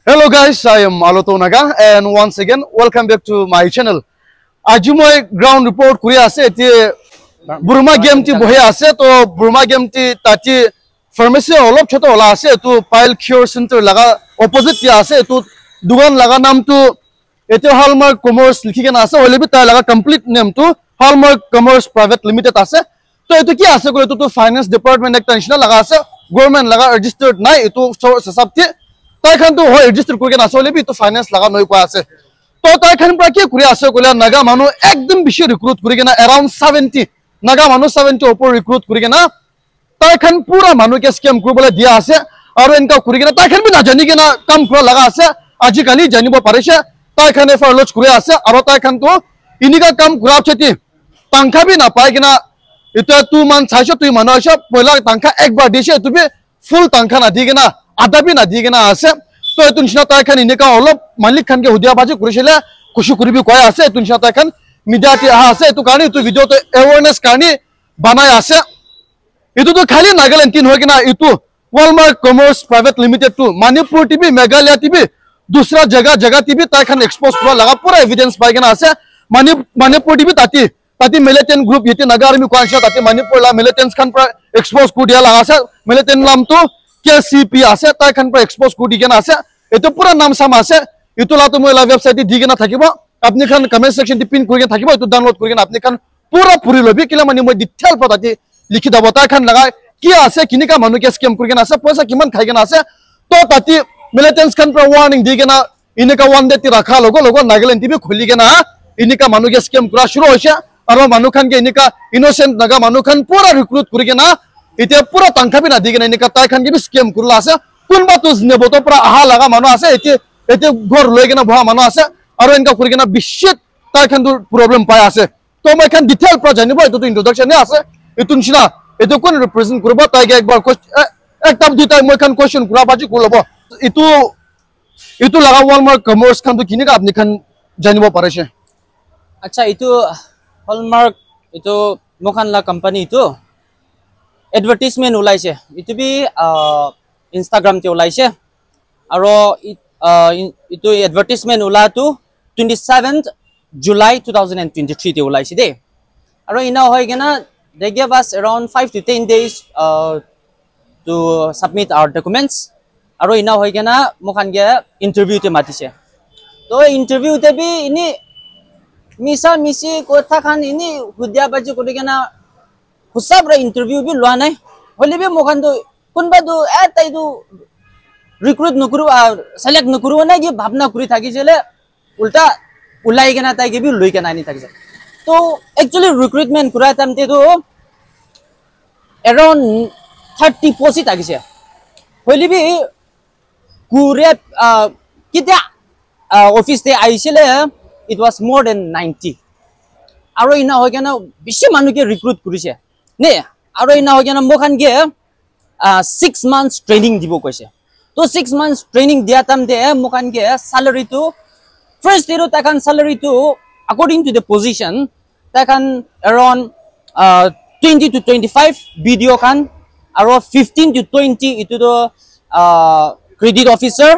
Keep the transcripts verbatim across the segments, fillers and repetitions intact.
Hello guys, I am Aloto Naga and once again welcome back to my channel. Aji moi ground report kuri ase ete Burma game ti bohi ase to Burma game ti tati pharmacy olop chota ola ase etu pile cure center laga opposite ti ase etu dukan laga naam tu ete Hallmark Commerce likhi kena ase hoile bi tai laga complete name tu Hallmark Commerce Private Limited ase. To etu ki ase koile etu tu finance department ekta nishina laga ase, government laga registered nai etu source hisab te tai khan tu hoi register kuri kena ase hoile bi etu finance laga noi koi ase. To tai khan pra ki kuri ase koile Naga manu ekdum bishi recruit kuri kena around seventy Naga manu seventy opor recruit kuri kena tai khan pura manu ke scam kuri bole dia ase aru enka kuri kena tai khan bi na jani kena kam kura laga ase. Aji kali janibo parise tai khan F I R lodge kuri ase aru tai khan tu inika kam kura cheti tangkha bi na pai kena etu two months saishe tui manu aishe poila tangkha ek bar dishe etu bi full tangkha na di kena adha bi na di kena ase. To etu nishina tai khan enika olop malik khan ke hudia baji kuri shile khushi kuri bi koi ase etu nishina tai khan media te aha ase etu karne etu video to awareness karne banai ase. Etu tu khali Nagaland tin hoi kena etu Hallmark Commerce Private Limited tu Manipur T V Meghalaya T V dusra jaga jaga T V tai khan expose kura laga pura evidence pai kena ase. Mani Manipur T V tati tati militant group yete Naga Army kwan sha tati Manipur la militants khan pra expose kuri dia laga ase. Militant naam tu K C P ase tai khan pra expose kuri di kena ase. Etu pura naam sam ase. Etu la tu moi la website te di kena thakibo. Apni khan comment section te pin kuri kena thakibo etu download kuri kena apni khan pura puri lobi kila mani moi detail pra tati likhi dabo tai khan laga ki ase kinika manu ke scam kuri kena ase poisa kiman khai kena ase. To tati militants khan pra warning di kena enika one day ti rakha logo logo Nagaland T V khuli kena enika manu ke scam kura shuru hoise aru manu khan ke enika innocent Naga manu khan pura recruit kuri kena ite pura tangkha bi na di kena enika tai khan ke bi scam kurila ase. Kunba tu nebo to pura aha laga manu ase ite ite ghor loi kena boha manu ase aru enka kuri kena bishi tai khan tu problem pai ase. To moi khan detail pra janibo etu tu introduction he ase. Etu nishina etu kun represent kuribo tai ke ekbar ques- eh, ekta duita moi khan question kura baji kuri lobo. Etu etu laga Hallmark Commerce khan tu kinika apni khan janibo parise? Acha etu Hallmark etu mokhan la company etu advertisement ulaise etu bi uh, Instagram te ulaise aro it- uh, in- etu advertisement ula tu twenty seventh July two thousand and twenty three te ulaise de aro ina hoi kena they gave us around five to ten days uh, to submit our documents aro ina hoi kena mokhan ke interview te matise to interview te bi ini misa misi kotha khan ini hudia baji kuri kena husab ra interview bi lua nai hoile bi mokhan tu kunba tu eh tai tu recruit nukuru ah, select nukuru na ki bhabna kuri thaki jele ulta ulai kena tai ke bi lui kena ani thaki jele to actually recruitment kura time te tu around thirty post thaki je hoile bi kure ah, kitia ah, office te aisile it was more than ninety aro ina hoi kena bishi manu ke recruit kurise ne aro ina hoi kena mokhan ke uh, six months training dibo koise to six months training dia time te mokhan ke salary tu first day tu takhan salary tu according to the position takhan around uh, twenty to twenty five video khan aro fifteen to twenty itu to uh, credit officer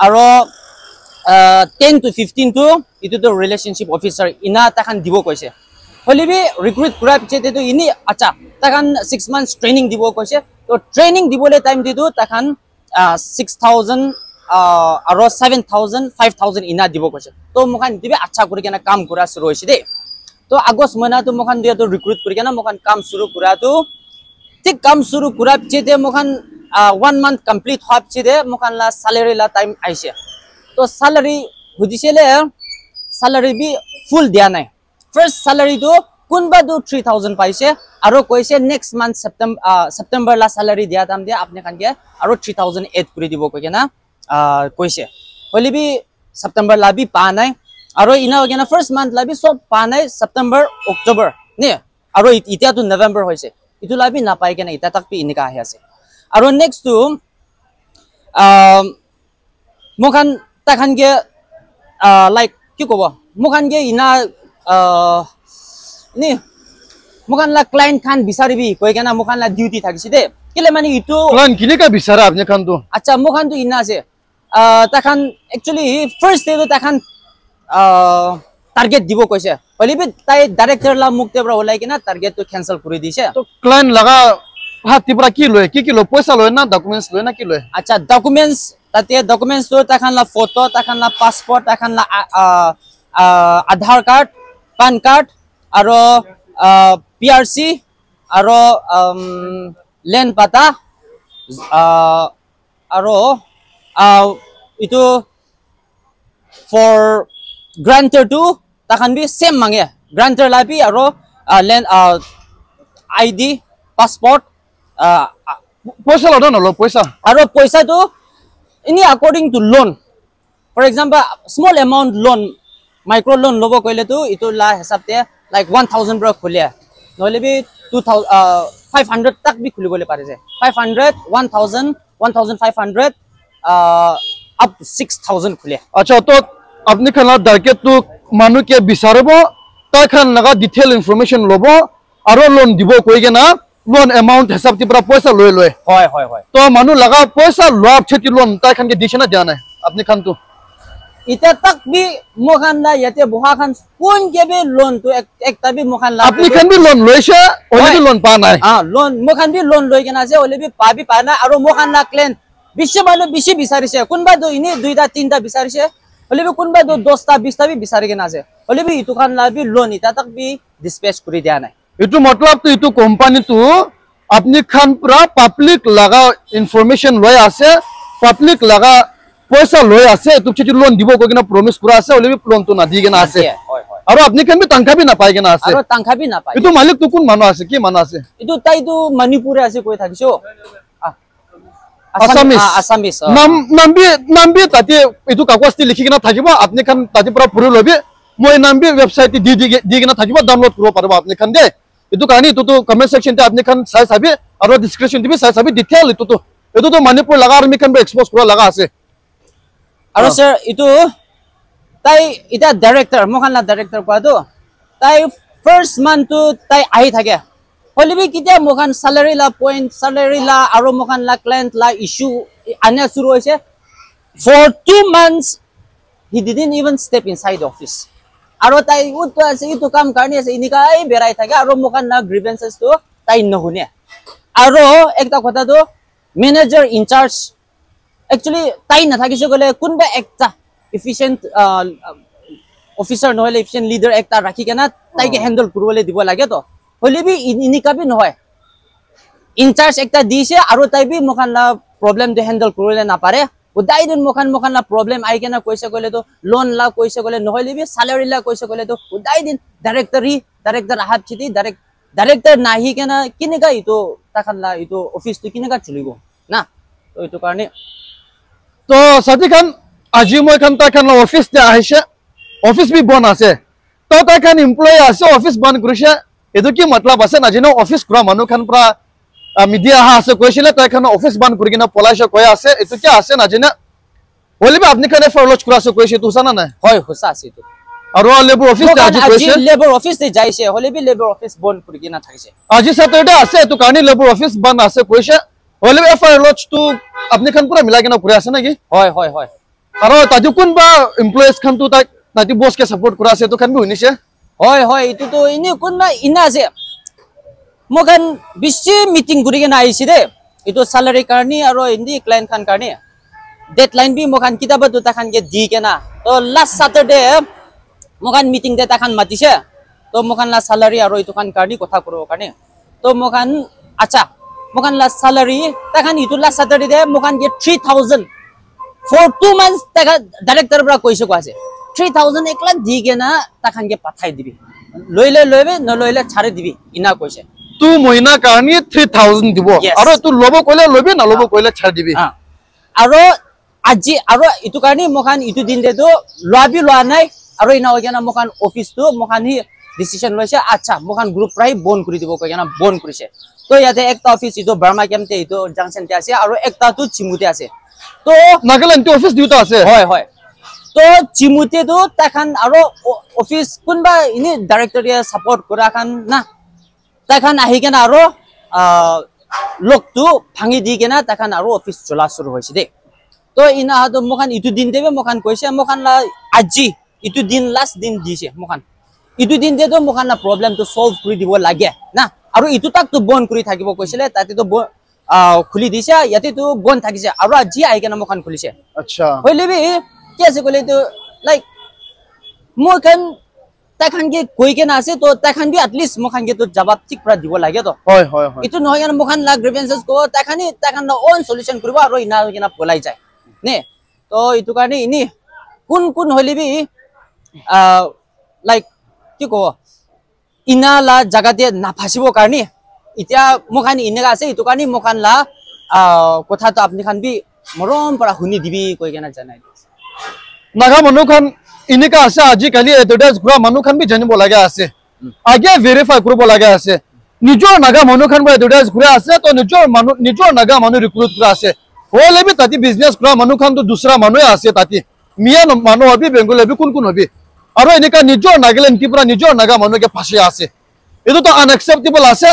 aro uh, ten to fifteen tu itu tu relationship officer ina takhan dibo koise hoile bi recruit kura piche te tu ini acha takhan six months training dibo koise to training dibole time te tu takhan uh, six thousand uh, aro seven thousand five thousand ina dibo koise to mokhan dibi acha kuri kena kam kura shuru hoise de to August mahina tu mokhan dia tu recruit kuri kena mokhan kam shuru kura tu thik kam shuru kura piche te mokhan uh, one month complete hua piche te mokhan la salary la time aise to salary hudisele salary bi full dia nai first salary tu kunba tu three thousand paise aro koise next month September uh, September la salary dia time te apni khan ke aro three thousand add kuri dibo koi kena uh, koise hoile bi September la bi pa nai aro ina hoi kena first month la bi sob pa nai September October ne aro it- itia tu November hoise itu la bi napai kena ita tak bi inika ahi ase aro next tu um, mokhan takhan ke uh, like ki kobo mokhan ke ina uh, ni mokhan la client khan bisari bi koi kena mokhan la duty thakise de kile mani itu plan kinika bisara apni khan tu acha mokhan tu ina ase uh, takhan actually first day tu takhan uh, target dibo koise. Hoile bi tai director la mukh te pra ulai kena target tu cancel kuri dise. To client laga hat te pra ki loy? Ki ki loy? Poisa loy na documents loy na ki loy? Acha, documents, tate documents tu takhan la photo, takhan la passport, takhan la uh, uh, Aadhaar card, PAN card, aro uh, P R C, aro um, land pata, uh, aro uh, itu for grantor tu takhan bi same mange. Grantor la bi aro uh, land uh, I D, passport, uh, Poisa lo na nalo poisa? Aro poisa tu ini according to loan. For example, small amount loan, micro loan lobo koile tu itu la hisab te like one thousand pra khule. Nohole bi two thousand, uh, five hundred tak bi khuli bole pare je. Five hundred, one thousand, one thousand five hundred, uh, up to six thousand khule. Acha, to apni khan la target tu manu ke bisaribo, tai khan laga detail information lobo, aro loan dibo koi kena loan amount hisab te pra poisa loi loi. Hoi, hoi, hoi. To manu laga poisa loa pichete loan tai khan ke dishe na dia nai? Apni khan tu. Ita tak bi moikhan la yate boha khan kun ke bi loan tu ek, ekta bi moikhan la. Apni khan bi loan loise, hoile bi loan pa nai. Ah, loan, moikhan bi loan loi kena ase, hoile bi pa bi pa nai, aro moikhan la client bishi manu bishi bisarise, kunba tu ini duita tinta bisarise, hoile bi kunba tu dosta bista bi bisari kena ase, hoile bi itu khan la bi loan ita tak bi dispatch kuri dia nai. Etu matlab tu etu company tu apni khan pura public laga information loi ase, public laga poisa loi ase, etu chiti loan dibo koi kena promise kura ase, hoile bi loan tu nadi kena ase. Nadiye, hoi, hoi. Aru apni khan bi tangka bi napai kena ase. Aru tangka bi napai. Etu malik tu kun manu ase, ki manu ase? Etu tai tu Manipur ase koi thakisho. Ah, Assamese. Assamese. Ah, Assamese. Oh. Nam, nam bi, nam bi tate etu kagoz te likhi kena thakibo, apni khan tate pura puri lobi. Moi nam bi website te di, di, di kena thakibo, download kuribo paribo apni khan de. Etu karne etu tu comment section te apni khan sai sabi, aru description te bi sai sabi, detail etu tu. Etu tu Manipur laga army khan bi expose kura laga ase. Aru sir, etu tai ita director, moikhan la director kua tu, tai first month tu tai ahi thake. Hoile bi ketia moikhan salary la point, salary la aru moikhan la client la issue ania shuru hoise. For two months, he didn't even step inside the office. Aru tai utu ase, itu kam karne ase, inika ai berai thake, aru moikhan la grievances tu tai nohune. Aru ekta kotha tu, manager in charge, actually tai nathakise koile kunba ekta efficient uh, officer nohole efficient leader ekta rakhi kena tai ke handle kuribole dibo lage to. Hoile bi in- inika bi nohoi, in charge ekta dise aru tai bi moikhan la problem de handle kuribole napare. Udai din moikhan moikhan la problem ai kena koise koile to, loan la koise koile, nohole bi salary la koise koile to, udai din directory director ahab chiti direct director nahi kena kinika itu takhan la itu office tu kinika chulibo na. To itu karne. To sati khan, aji moi khan tai khan la office te ahise, office bi bon ase. To tai khan employee ase, office bon kurise. Etu ki matlab ase najane, office kura manu khan pra ah, media aha ase koisile, tai khan office bon kuri kena polaise koi ase. Etu ki ase najane. Hoile bi apni khan F I R lodge kura ase koise, etu hosa na nai? Hoi, hosa ase etu. Aru labour office te aji koise? Labour office te jaise, hoile bi labour office bon kuri kena thaise. Aji Saturday ase, etu karne labour office bon ase koise. Hoile bi F I R lodge tu apni khan pura milai kena kuri ase na ki? Hoi, hoi, hoi. Aru tate kunba employees khan tu tai, tate boss ke support kura ase, etu khan bi hunise. Hoi, hoi, etu tu ene kunba ena ase. Moikhan bishi meeting kuri kena ahise de. Etu salary karne aro indi client khan karne. Deadline bi moikhan kitaba tu takhan ke di kena. To last Saturday moikhan meeting te takhan matise. To moikhan la salary aro etu khan karne kotha kuribo karne. To moikhan, acha, moikhan la salary, takhan etu last Saturday te moikhan ke three thousand for two months takhan director pra koise koi ase. Three thousand ekla di kena takhan ke pathai dibi. Loile loibi, noloile chari dibi, ena koise. Tu mohina karne three thousand dibo. Yes. Aro tu lobo koile lobi, nalobo koile chari dibi. Ah. Aro aji, aro etu karne moikhan etu din te tu lua bi lua nai, aro ena hoi kena moikhan office tu moikhan hi decision loise, acha, moikhan group pra hi bon kuri dibo koi kena bon kurise. To yate ekta office etu Burma camp te etu junction te ase, aro ekta tu Chimu te ase. To Nagaland te office duita ase. Hoi, hoi. To Chimu te tu takhan aro o-, office kunba ini director ya support kura khan na. Takhan ahi kena aro, ah, lock tu bhangi di kena takhan aro office chola shuru hoise de. To ina to moikhan itu din te bi moikhan koise, moikhan la aji itu din last din dise moikhan. Itu din te to moikhan la problem to solve kuri dibo lage na. Aru itu tak to bon kuri thakibo koisile, tate to bon, ah, khuli dise, yate to bon thakise. Aru aji ahi kena moikhan khulise. Acha. Hoile bi ki ase koile to, like, moikhan tai khan ke koi kena ase, to tai khan bi at least moikhan ke to jawab thik pra dibo lage to. Hoi, hoi, hoi. Itu nohoi kena moikhan la grievances ko tai khan hi tai khan la own solution kuribo aru ina hoi kena polai jai. Ne? To itu karne ini kun kun hoile bi, ah, like, ki ko, ina la jaga te na phasibo karne itya moikhan ineka ase, itu karne moikhan la, ah, kotha to apni khan bi morom para huni dibi koi kena janai di ase. Naga manu khan enika ase, aji kali advertise kura manu khan bi janibo laga ase. Age verify kuribo laga ase. Nijor Naga manu khan para advertise kura ase, to nijor manu, nijor Naga manu recruit kura ase. Hoile bi tati business kura manu khan to dusra manu ase tati. Miya no-, manu hobi, Bengali hobi, kun kun hobi. Aru enika nijor Nagaland ki pura nijor Naga manu ke phasi ase. Itu to unacceptable ase.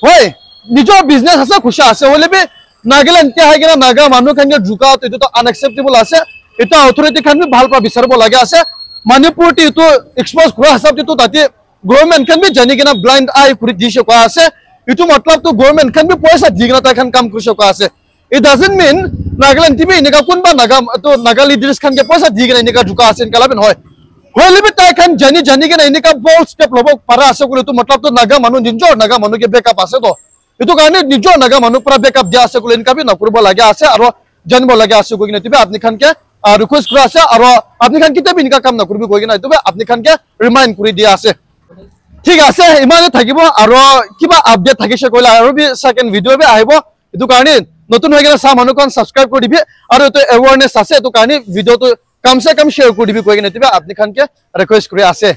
Hoi, nijor business ase, khushi ase. Hoile bi Nagaland te hai kena Naga manu khan ke juka to itu to unacceptable ase. Itu authority khan bi bhal pa bisaribo laga ase. Manipur te itu expose kura hisab te to tati government khan bi jani kena blind eye kuri dise koi ase. Itu matlab to government khan bi paisa di kena tai khan kam kurise koi ase. It doesn't mean Nagaland te bi enika kunba Naga to Naga leaders khan ke paisa di kena enika juka ase enika la bi nohoi. Hoile bi tai khan jani jani kena enika bold step lobo para ase koile to matlab to Naga manu nijor Naga manu ke backup ase to. Itu karne nijor Naga manu para backup dia ase koile enika bi nakuribo laga ase aro janibo laga ase koi kena itu bi apni khan ke, ah, request kura ase aro apni khan ketia bi enika kam nakuribi koi kena itu bi apni khan ke remind kuri dia ase. Thik ase, imane thakibo aro kiba update thakise koile aro bi second video bi ahibo. Itu karne notun hoi kena sa manu khan subscribe kuri dibi aro itu awareness ase itu karne video to kam se kam share kuri dibi koi kena itu bi apni khan ke request kuri ase.